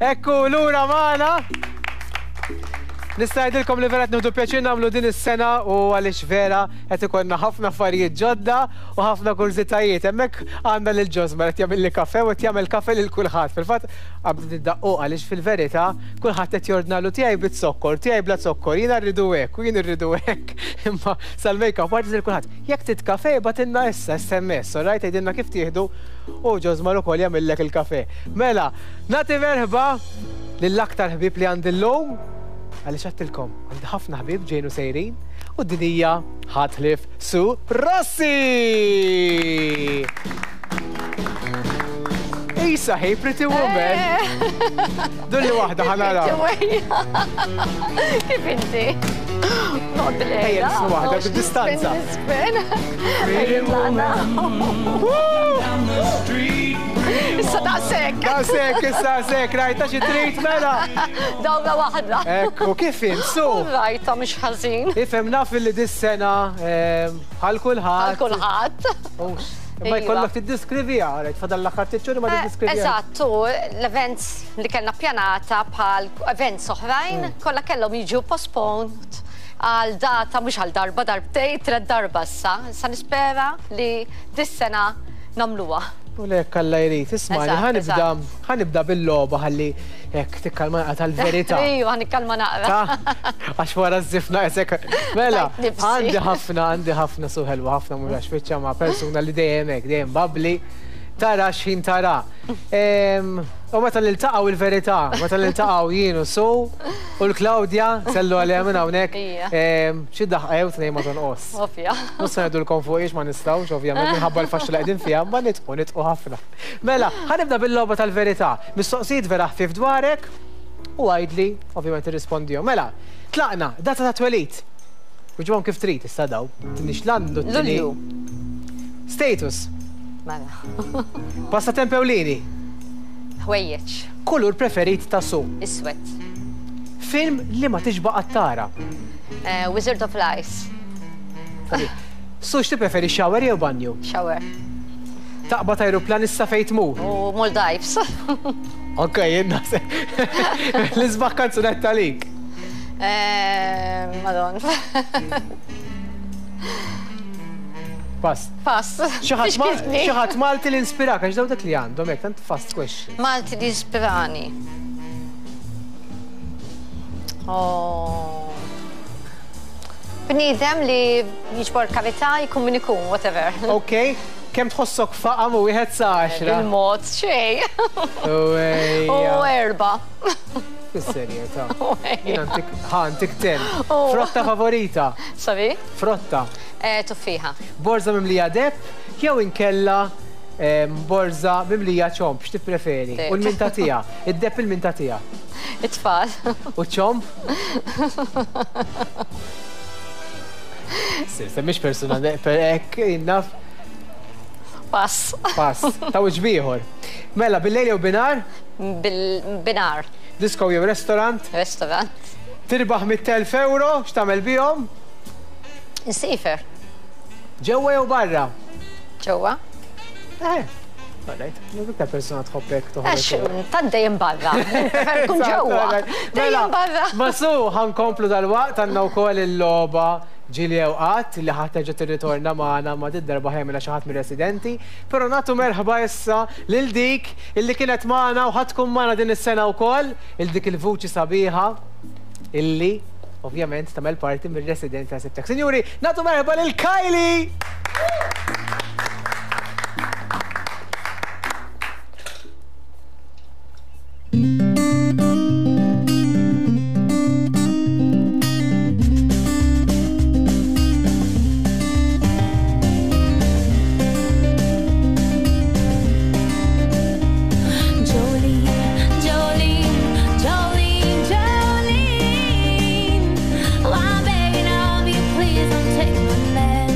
Ekku lura magħna. Nista' ngħidilkom li vera qed nieħdu pjaċir nagħmlu din is-sena u għaliex vera qed ikollna ħafna affarijiet ġodda u ħafna kurżitajiet. Hemmhekk għandna lil Josmar qed jagħmilli kafe u qed jagħmel kafe lil kulħadd. Fil-fatt qabdet id-daqquq għaliex fil-verità kulħadd qed jordnalu tiegħi biz-zokkor, tiegħi bla zokkor, jiena rridu hekk u jien irridu hekk. Imma sal-makeup artist lil kulħadd. Jekk trid kafe ibgħatilna issa SMS, all right? Għidilna kif tieħdu u Josmar ukoll jagħmillek il-kafe. Mela, nagħti merħba lill-aktar ħbieb li għandi llum, għaliex għedtilkom, għandi ħafna ħbieb ġejjin u sejrin, u din hija ħadd ħlief Sue Rossi! Isa, hey, pretty woman! Dulli waħda ħanara. Kif inti? Noqgħod bil-qiegħda. Ejja, nisnu waħda bid-distanza. Nispen. Ejja, tlaqna. Issa daqshekk. Daqshekk, issa daqshekk, rajta xi trid mela. Dawra waħda. Ekku, kif int, su? Rajta mhux ħażin. Ifhem naf li dis-sena ehm, bħal kulħadd. Bħal kulħadd. Ma iva. jkollok tiddiskriviha, rajt fadal l-aħħar ftit ma eh, tiddiskriviha. Eżatt, u l-events li kellna pjanata bħal events oħrajn, mm. kollha kellhom jiġu postponed għal data mhux għal darba, darbtej, tred darba issa. Sa nispera li dis-sena nagħmluha. U le jekk Alla jrid. Ismagħni, ħa nibda, ħa nibda bil-logħba ħalli hekk tikkalma naqra tal-verità. Ejju, ħa nikkalma naqra. Ta? Għax wara ż-żifna qisek. Mela, għandi ħafna, għandi ħafna su ħelwa, ħafna mhux għax fiċċa ma' persuna li dejjem hekk, dejjem bubbly. Tara x'ħin tara. U meta niltaqgħu il-verità, meta niltaqgħu jien u Su u l-Claudia, sellu għaliha minn hawnhekk, xi daħqa jew tnejn ma tonqos. Ovvja. Mhux se ngħidulkom fuqiex ma nistgħux, ovvjament, minħabba l-faxxa li qegħdin fiha, imma nidħqu, nidħqu ħafna. Mela, ħa nibda bil-logħba tal-verità. Mistoqsijiet vera ħfief dwarek u għidli, ovvjament irrispondihom. Mela, tlaqna, data ta' twelid. Wiġibhom kif trid issa daw. Tinix l-annu, tini. Lulju. Status. Mela. Passatemp ewlieni. Ħwejjeġ. Kulur preferit ta' Sue. Iswed. Film li ma tixba' qatt tara. Wizard of Lies. Su x'tippreferi shower jew banju? Shower. Taqbad ajruplan issa fejn tmur? U Maldives. Ok, jien naħseb. L-isbaħ kanzunetta għalik? Madon. Pass. Pass. Xi ħadd Malti li inspirak għax daw dak li għandhom hekk tant fast question. Malti li ispirani. Oh. Bniedem li jiġbor karità jkun min ikun, whatever. Ok, kemm tħossok faqam u wieħed sa għaxra? Bil-mod, xejn. U erbgħa. Fis-serjetà. Jien għantik, ħa ntik ten. Frotta favorita? Sorry? Frotta. Eh, tuffiħa. Borża mimlija deheb jew inkella borża mimlija ċomb, x'tippreferi? U l-min tagħtiha? Id-deheb il-min tagħtiha? It-tfal. U ċ-ċomb? Semmix persuna per hekk naf. Pass. Pass. Ta' wiċċ b'ieħor. Mela, bil-lejl jew binhar? Bil-binhar. Disco jew restaurant? Restaurant. Tirbaħ 100,000 euro, x'tagħmel bihom? Insiefer. Ġewwa jew barra? Ġewwa. Eh. Alright, iktar persuna tħobbek toħroġ. Għax, tant dejjem barra. Prefer kun ġewwa. Mela, Dejjem barra. Ma su, ħankomplu dal-waqt għandna wkoll il-logħba ġieli jew qatt li ħa terġa' tirritorna magħna ma did-darba ħa jagħmilha xi ħadd mir-residenti. Però nagħtu merħba issa lil dik illi kienet magħna u ħa tkun magħna din is-sena wkoll, il dik il-vuċi sabiħa illi ovvjament tagħmel parti mir-residenti ta' Sibtek. Sinjuri, nagħtu merħba lil Kylie! Jolene, Jolene, Jolene, Jolene. Oh, I'm begging of you, please don't take my man.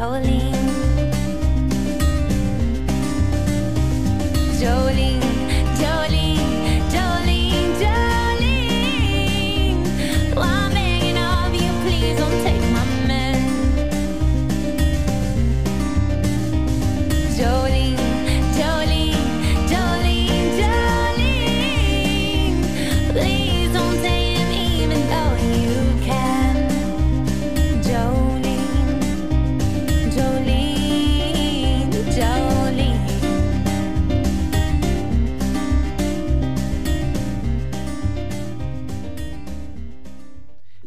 Jolene. Jolene, Jolene, Jolene, Jolene. Well, I'm begging of you, please don't take my man. Jolene, Jolene, Jolene, Jolene. Please don't take him even though you can. Jolene, Jolene, Jolene.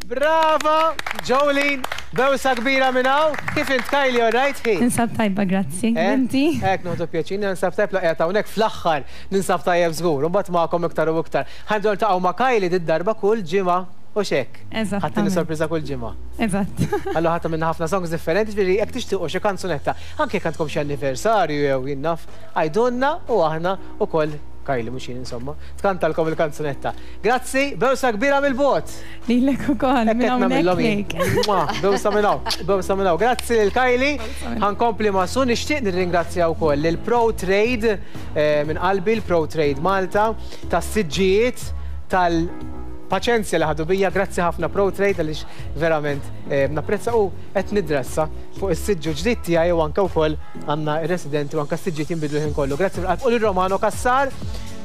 Brava, Jolene, bewsa kbira minn hawn. Kif int Kylie, all right? Hi. Ninsab tajba, grazzi. Eh? Inti? Ek, noħdu pjaċir, ninsab tajb laqja ta' hawnhekk fl-aħħar ninsab tajjeb żgur, u mbagħad magħkom iktar u iktar. Ħa nibdew niltaqgħu ma' Kylie did-darba kull ġimgħa u xek. Eżattament. Ħadd sorpriża kull ġimgħa. Eżatt. Allora ħadd minna ħafna songs differenti, ġifieri jekk tixtiequ xi kanzunetta, anke jekk għandkom xi anniversarju jew jien naf, għidulna u aħna ukoll Kylie mhux jien insomma, tkantalkom il-kanzunetta. Grazzi, bewsa kbira mill-bogħod. Lilek ukoll, Hekk minn qed hawnhekk nagħmilhom jien. lejk. Mwah, Bewsa minn hawn, bewsa minn hawn. Grazzi lil Kylie. Ħa nkompli ma' Su nixtieq nirringrazzja wkoll lil Pro Trade eh, minn qalbi l-Pro Trade Malta tas-siġġijiet tal-paċenzja li ħadu bija. Grazzi ħafna Pro Trade għaliex verament eh, napprezza u qed nidressa fuq is-siġġu ġdid tiegħi u anke wkoll għandna ir-residenti u anke s-siġġijiet jinbidlu ħin kollu. Grazzi fil-qalb u lil Romano Cassar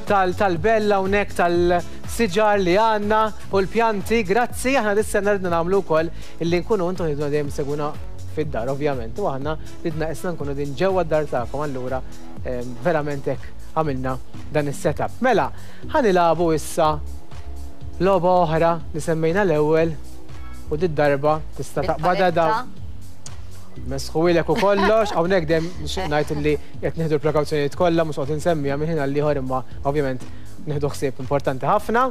tal-bella hawnhekk tal-siġar li għandna u l-pjanti. Grazzi, aħna dis-sena ridna nagħmlu wkoll illi nkunu intom ridna dejjem seguna fid-dar, ovvjament. U aħna ridna isna nkunu din ġewwa d-dar tagħkom, allura verament hekk għamilna dan is-setup. Mela, ħa nilagħbu issa logħba oħra li semmejna l-ewwel u did-darba tista' taqbadha da. Mesħuilek u kollox, hawnhekk dejjem nixtieq ngħid illi qed nieħdu l-prekawzjonijiet kollha mhux qed insemmija minn ħin għal ieħor imma ovvjament nieħdu ħsieb importanti ħafna.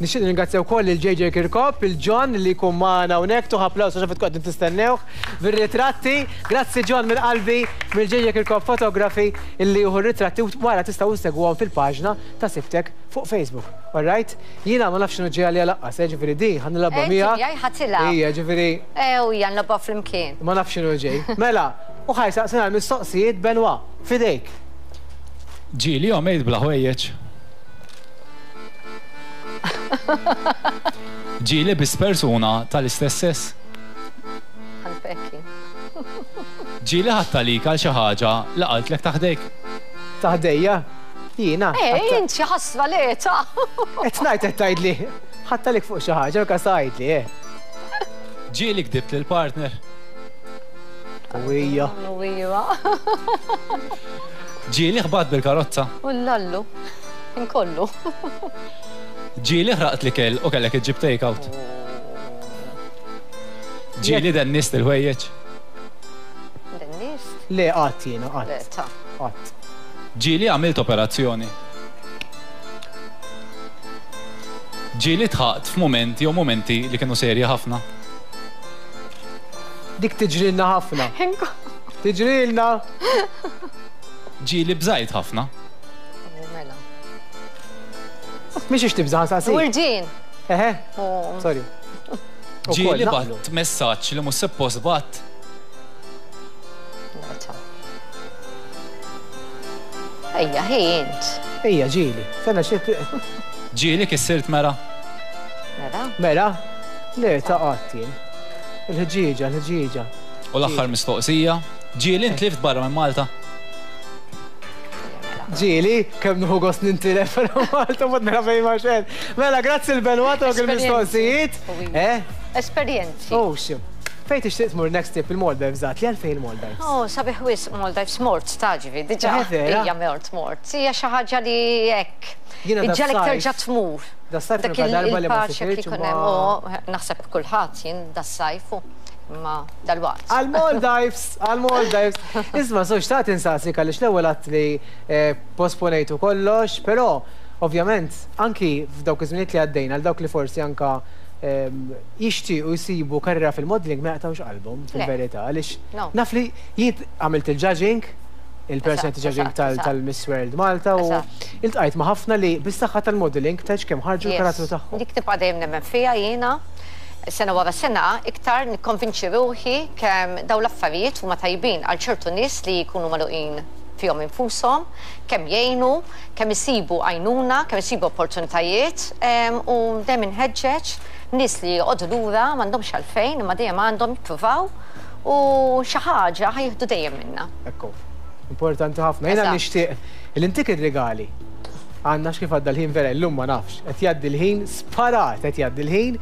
Nixtieq nirringrazzja wkoll lil JJ Kirkop, il John li jkun magħna hawnhekk, tuħ applaws għax tkun qegħdin tistennewh bir-ritratti. Grazzi John minn qalbi mill JJ Kirkop Photography illi jieħu r-ritratti u wara tistgħu ssegwuhom fil-paġna ta' Sibtek fuq Facebook. All right? Jiena ma nafx x'inhu ġej għalija laqqas, eh, ġifieri di ħa nilgħabha Inti miegħek. miegħi ħa tilgħab. Ija, ġifieri Ew, hija nlogħobha flimkien. ma nafx x'inhu ġej. Mela, u ħa jsaqsina l-mistoqsijiet Benoit, fidejk. Ġieli għomejt bla ħwejjeġ. Ġieli biss persuna tal-istess sess. Għalfekki. Ġieli ħadt għalik għal xi ħaġa li qaltlek ta' ħdejk. Ta' ħdejja? Jiena. Eh, int xi ħasra le ta' Qed ngħid qed tgħidli. Ħadt għalik fuq xi ħaġa, u tgħidli, eh. Ġieli kdibt lil partner. Uwija. Uwija. Ġieli ħbat bil-karozza. U l-lallu. Inkollu. Ġieli ħraqt l-ikel u kellek iġġib take out. Ġieli dennist il-ħwejjeġ. Dennist? Le, qatt jiena, Le, qatt. ta' Qatt. Ġieli għamilt operazzjoni. Ġieli dħaqt f'mument jew momenti li kienu serji ħafna. Dik tiġrilna ħafna. Tiġrilna. Ġieli bżajt ħafna. U Mela. Mhix tibża' saqsi. Urġin. Eħe, U sorry. Ukoll Ġieli naqblu. bgħatt messaġġ li mhux suppost bgħatt. Le, ta' Ejja, hi int. Ejja, ġieli. Sena xi Ġieli kissirt mera. Mela. Mela? Le, ta' qatt jien. Il-ħġieġa, il-ħġieġa. U l-aħħar mistoqsija. Ġieli ntlift barra minn Malta. Ġieli, kemm nieħu gost nintilef Malta mod nara fejn ma xejn. Mela, grazzi l-Benoit dawk il-mistoqsijiet. Eh? Esperjenzi. Oh, xi. Fejn tixtieq tmur next trip il-Maldives għat li għalfejn il-Maldives? Oh, sabiħ wisq Maldives mort taġivi, diġà. Eh, vera? Ija mort mort. Hija xi ħaġa li hekk. Jiena da Iġġalek sajf- terġa' tmur. Da sajf Dak nuka darba li ma il-paċe li sifirtx jkun ma- hemm, oh, naħseb kulħadd jien das-sajf u ma dal-waqt. Għal-Maldives, għal-Maldives. Isma, so xtaqt insaqsik għaliex l-ewwel għat li eh, posponejtu kollox, però ovvjament anki f'dawk iż-żminijiet li għaddejna għal dawk li forsi anka ehm, jixtiequ jsibu karriera fil-modeling ma jaqtawx qalbhom fil-verità għaliex No. naf li jien għamilt il-judging, il-personality Eżatt, judging eżatt, tal- eżatt. tal-Miss World Malta u Eżatt. iltqajt ma' ħafna li bis-saħħa tal-modeling tgħidx kemm ħarġu l-karattru tagħhom. Dik tibqa' dejjem nemmen fija jiena. Sena wara sena iktar nikkonvinċi ruħi kemm dawn l-affarijiet huma tajbin għal ċertu nies li jkunu magħluqin fihom infushom, kemm jgħinu, kemm isibu għajnuna, kemm isibu opportunitajiet u dejjem inħeġġeġ nies li joqogħdu lura m'għandhomx għalfejn imma dejjem għandhom jippruvaw u xi ħaġa ħa jieħdu dejjem minnha. Ekku. Importanti ħafna. Jiena nixtieq li ntik ir-rigali. Għandna x'kif għadda l-ħin vera illum ma nafx. Qed jgħaddi l-ħin sparat qed jgħaddi l-ħin.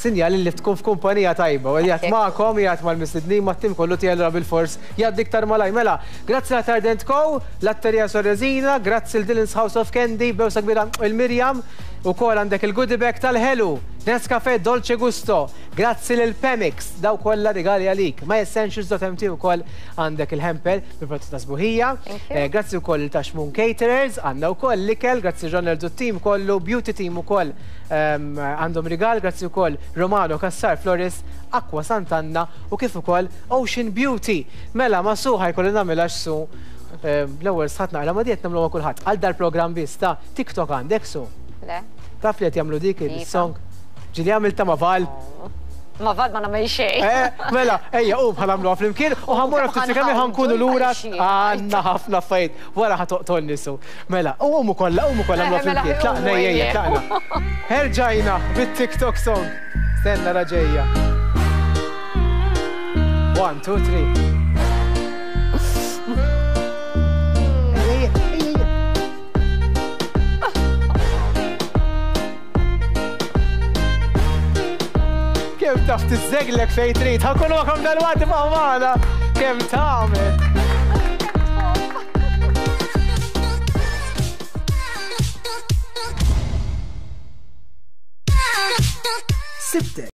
Sinjal li tkun f'kumpanija tajba. U qiegħed magħkom, qiegħed mal-mistednin, mat-tim kollu tiegħi allura bilfors jgħaddi iktar malajr. Mela, grazzi la Tardent Co, Latteria Sorresina, grazzi l Dylan's House of Candy, bewsa kbira il Miriam, ukoll għandek il-goodie bag tal-ħelu, Nescafe Dolce Gusto, grazzi lil Pemix, daw kollha rigali għalik. MyEssentials.mt ukoll għandek il-hamper bil-prodotti ta' sbuħija. Grazzi wkoll lil Taxmun Caterers, għandna wkoll l-ikel, grazzi Ronald u t-tim kollu, Beauty Team ukoll għandhom rigal, grazzi wkoll Romano Cassar Florist, Aqua Sant'Anna u kif ukoll Ocean Beauty. Mela ma' Su ħajkolli nagħmilha x'Su l-ewwel sħat naqra ma' di qed nagħmluha ma' kulħadd. Għal dal-programm biss ta' TikTok għandek Su? Le. Taf li qed jagħmlu dik il-song? Ġieli għamiltha ma' Val? Ma' Val ma nagħmel xejn. Eh, mela, ejja, qum ħa nagħmluha flimkien u ħa mmorru ftit kemm ħa nkunu lura għandna ħafna affarijiet. Wara ħa toqtolni Su. Mela, u qumu kollha, qumu kollha nagħmluha flimkien. Tlaqna, ejja, ejja, tlaqna. Erġajna bit-TikTok song. Stenna ra ġejja. 1, 2, 3. Ejja, ejja, ejja. Kemm taf tiżżeglek fejn trid, ħa nkunu magħkom dalwaqt ibqgħu magħna. Kemm tagħmel. Sibtek.